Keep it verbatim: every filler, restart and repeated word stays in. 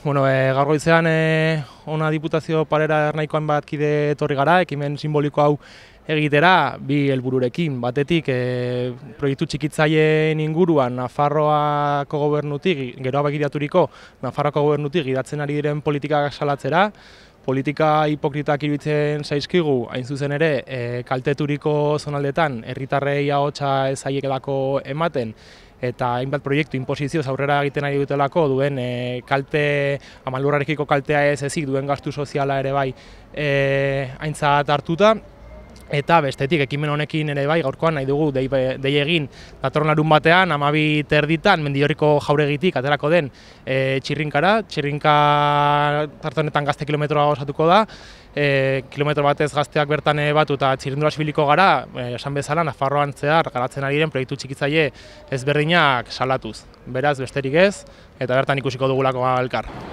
Bueno, e, gaur goizean e, ona Diputazio Parera Ernahikoan bat kide etorri gara, ekimen simboliko hau egitera, bi helbururekin. Batetik, e, proiektu txikitzaileen inguruan Nafarroako gobernutik, geroa begiraturiko Nafarroako gobernutik gidatzen ari diren politikak salatzera, politika hipokritak iruditzen zaizkigu, hain zuzen ere, e, kalteturiko zonaldetan herritarrei ahotsa ez zaiekelako ematen, eta hainbat proiektu inposizioz aurrera egiten ari dutelako duen e, kalte, amalurrarekiko kaltea ez ezik duen gastu soziala ere bai e, aintzat hartuta. Eta bestetik, ekimen honekin ere bai, gaurkoan nahi dugu dei, dei egin datorren larun batean, hamabi terditan, Mendillorriko jauregitik aterako den e, Txirrinkara. Txirrinka tarte honetan gazte kilometroa osatuko da, e, kilometro batez gazteak bertan batu eta txirrindulaz ibiliko gara, e, esan bezala, Nafarroan zehar garatzen ari diren proiektu txikitzaile ezberdinak salatuz. Beraz, besterik ez, eta bertan ikusiko dugulako elkar.